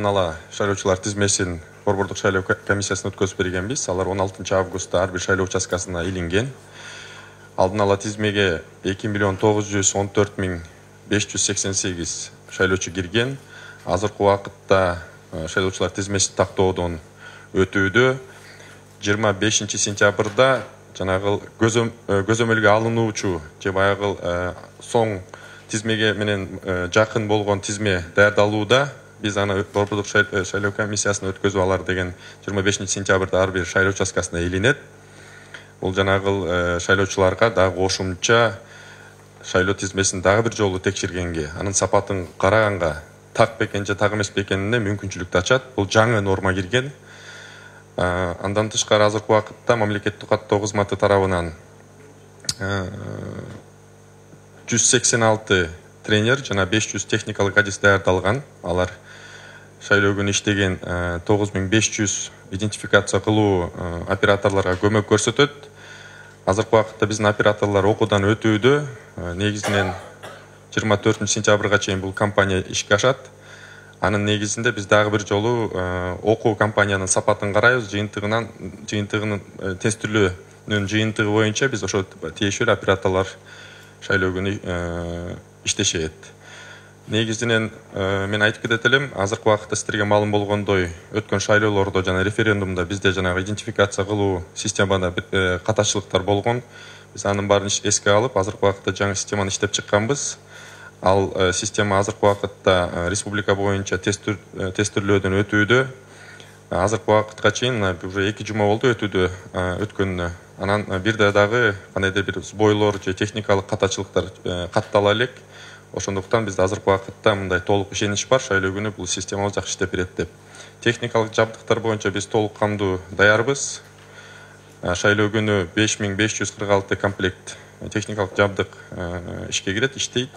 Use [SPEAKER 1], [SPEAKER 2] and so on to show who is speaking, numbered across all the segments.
[SPEAKER 1] алдын ала шайлоочулар тизмесин борбордук шайлоо комиссиясына өткөзүп бергенбиз. Алар 16 августта ар бир шайлоо участкасына илинген. Алдын ала тизмеге 2.914.588 шайлоочу кирген. Азыркы убакытта шайлоочулар тизмесин тактоодон өтүүдө. 25 сентябрда жанагы көзөмөлгө алынуучу же баягы соң тизмеге менен жакын болгон тизме даярдалууда. Биз аны борбордук шайлоо комиссиясына өткөзүп алар деген 25 сентябрда ар бир шайлоо участкасына илинет. Бул жанагы шайлоочуларга дагы кошумча шайлоо тизмесин дагы бир жолу текшергенге, анын сапатын караганга так бекен же так эмес бекенине мүмкүнчүлүктү ачат. Бул жаңы норма кирген. Андан тышкары азыркы убакытта мамлекеттик каттоо кызматы тарабынан 186 тренер жана 500 техникалык адис даярдалган. Алар шайлоо күнү иштеген 9500 идентификация кылуу операторлорго көмөк көрсөтөт. Азыркы убакытта биздин операторлор окуудан өтүүдө. Негизинен 24 сентябрга чейин бул компания ишке ашат. Анын негизинде биз дагы бир жолу окуу компаниянын сапатын карайбыз. Жыйынтыгынын тестилөөнүн жыйынтыгы боюнча биз ошо тиешелүү операторлор шайлоо күнү иштешет. Негизинен мен айтып кетет элем, азыркы убакытта сиздерге маалым болгондой, өткөн шайлоолордо жана референдумда бизде жанагы идентификация кылуу системада катачылыктар болгон. Биз анын баарын эске алып, азыркы убакытта жаңы системаны иштеп чыкканбыз. Ал система азыркы убакытта республика боюнча тестирлөөдөн өтүүдө. Азыркы убакытка чейин уже 2 жума болду өткөнүнө. Анан бирде дагы кандайдыр бир сбойлор же техникалык катачылыктар каттала элек. Ошондуктан бизде азыркы убакытта мындай толук ишенич бар, шайлоо күнү бул система жакшы иштеп берет деп. Техникалык жабдыктар боюнча биз толук кандуу даярбыз. Шайлоо күнү 5546 комплект техникалык жабдык ишке кирет, иштейт.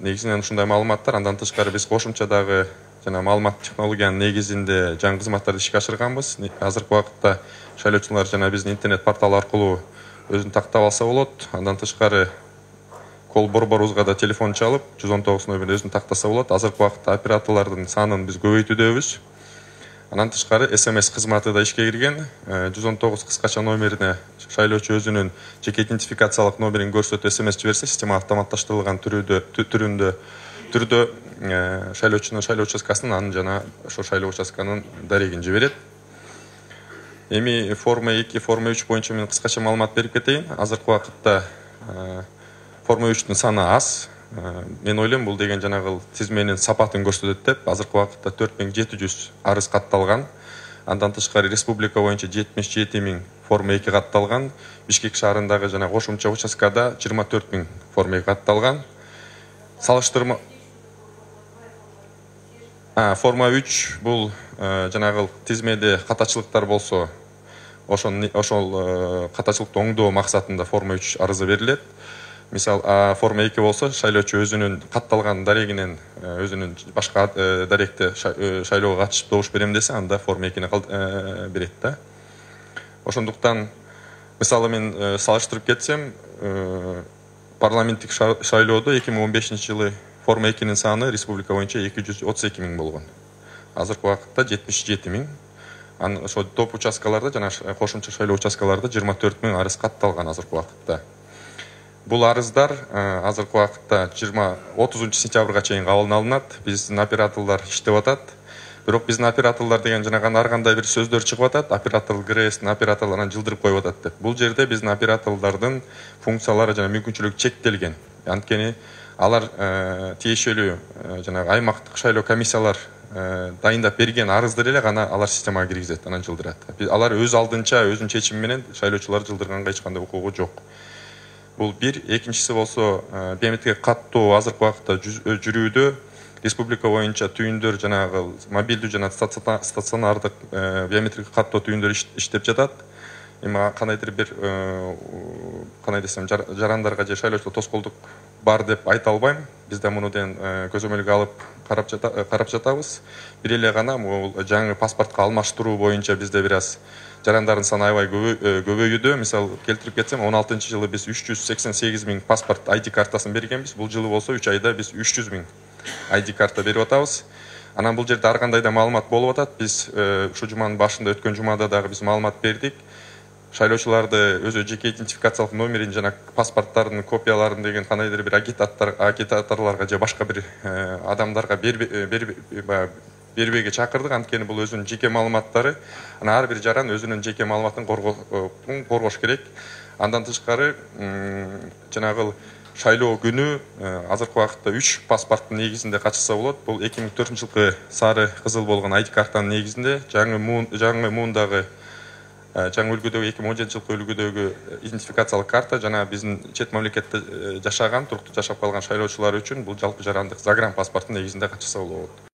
[SPEAKER 1] Негизинен ушундай маалыматтар. Андан тышкары биз кошумча дагы жана маалымат технологиянын негизинде жаңы кызматтарды ишке ашырганбыз. Азыркы убакытта шайлоочулар жана биздин интернет портал аркылуу өзүн тактап алса болот. Андан тышкары кол борборубузга да телефон чалып 119 номерин өзүн тактаса болот. Азыркы убакытта операторлордун санын биз көбөйтүүдөбүз. Андан тышкары SMS кызматы да ишке кирген. 119 кыскача номерине шайлоочу өзүнүн жеке идентификациялык номерин көрсөтүп SMS жиберсе, система автоматташтырылган түрүндө шайлоочунун шайлоо участкасынын анын жана ошо шайлоо участканын дарегин жиберет. Эми форма 2, форма 3 боюнча мен кыскача маалымат берип кетейин. Азыркы убакытта форма 3-түн саны аз. Мен ойлойм, бул деген жанагы тизменин сапатын көрсөтөт деп. Азыркы убакытта 4700 арыз катталган. Андан тышкары республика боюнча 77.000 форма 2 катталган. Бишкек шаарындагы жана кошумча участкада 24.000 форма 2 катталган. Салыштырма форма 3 бул жанагы тизмеде катачылыктар болсо, ошол катачылыкты оңдоо максатында форма 3 арызы берилет. Мисал, форма 2 болсо, шайлоочу өзүнүн катталган дарегинен өзүнүн башка даректе шайлоого катышып добуш берем десе, анда форма 2-ни берет да. Ошондуктан, мисалы мен салыштырып кетсем, парламенттик шайлоодо 2015-жылы форма 2-нин саны республика боюнча 232.000 болгон. Азыркы убакытта 77.000. Ошо топ участкаларда жана кошумча шайлоо участкаларда 24.000 арыз катталган азыркы убакытта. Бул арыздар азыркы убакытта 30 сентябрга чейин кабыл алынат. Биздин операторлор иштеп атат. Бирок биздин операторлор деген жанагы ар кандай бир сөздөр чыгып атат. Оператор ГРСтин операторлорун жылдырып коюп атат деп. Бул жерде биздин операторлордун функциялары жана мүмкүнчүлүгү чектелген. Анткени алар тиешелүү жанагы аймактык шайлоо комиссиялар дайындап берген арызды эле гана алар системага киргизет, анан жылдырат. Алар өз алдынча, өзүнүн чечими менен шайлоочуларды жылдырганга эч кандай укугу жок. Бул бир. Экинчиси болсо, биометрик каттоо азыркы убакытта жүрүүдө. Республика боюнча түйүндөр жанагы мобилдүү жана стационардык биометрик каттоо түйүндөр иштеп жатат. Эми кандайдыр бир кандай десем, жарандарга же шайлоочулар тоскоолдук бар деп айта албайм. Биз да мунуден көзөмөлгө алып карап жатабыз. Бир эле гана бул жаңы паспортко алмаштыруу боюнча бизде бир аз жарандардын саны аябай көбөйүүдө. Мисал келтирип кетсем, 16-жылы биз 388.000 паспорт ID картасын бергенбиз. Бул жылы болсо 3 айда биз 300.000 ID карта берип атабыз. Анан бул жерде ар кандай да маалымат болуп атат. Биз ушу жуманын башында өткөн жумада дагы биз маалымат бердик. Шайлоочуларды өзү жеке идентификациялык номерин жана паспорттардын копияларын деген кандайдыр бир агитаторлорго же башка бир адамдарга бербеге чакырдык. Анткени бул өзүнүн жеке маалыматтары. Анан ар бир жаран өзүнүн жеке маалыматын коргош керек. Андан тышкары жанагы шайлоо күнү азыркы убакытта 3 паспорттун негизинде катышса болот. Бул 2004-жылкы сары кызыл болгон ID картанын негизинде, жаңы муундагы жаңы үлгүдөгү 2017-жылкы үлгүдөгү идентификациялык карта жана биздин чет мамлекетте жашаган, туруктуу жашап калган шайлоочулар үчүн бул жалпы жарандык загран паспорттун негизинде катышса болот.